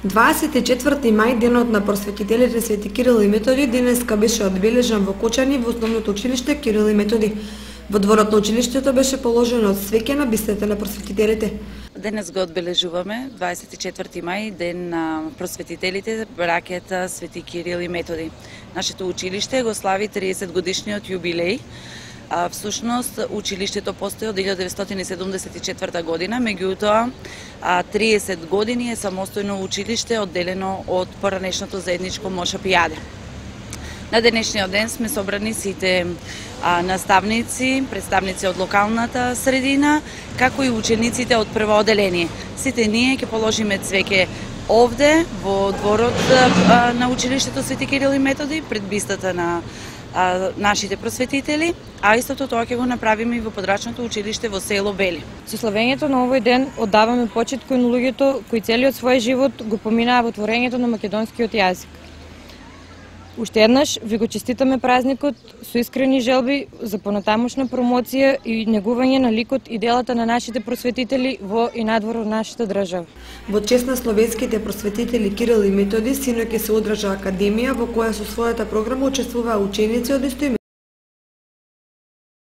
24 мај, денот на просветителите Свети Кирил и Методи, денеска беше одбележан во Кочани во основното училиште Кирил и Методи. Во дворот на училиштето беше положено свеќе на бистата на просветителите. Денес го одбележуваме 24 мај, ден на просветителите, браќата Свети Кирил и Методи. Нашето училиште го слави 30 годишниот јубилеј. Всушност, училиштето постои од 1974 година, меѓутоа 30 години е самостојно училиште одделено од поранешното заедничко Мошапијаде. На денешниот ден сме собрани сите наставници, представници од локалната средина, како и учениците од прво одделение. Сите ние ќе положиме цвеќе овде во дворот на училиштето Свети Кирил и Методи, пред бистата на нашите просветители, а истото тоа ќе го направиме и во подрачното училиште во село Бели. Со славењето на овој ден оддаваме почит кон луѓето кои целиот свој живот го поминаа во творењето на македонскиот јазик. Уште еднаш ви го честитаме празникот со искрени желби за понатамошна промоција и негување на ликот и делата на нашите просветители во и надвор од нашата држава. Во чест на словенските просветители Кирил и Методи, синоќ се одржа академија во која со својата програма учествуваа ученици од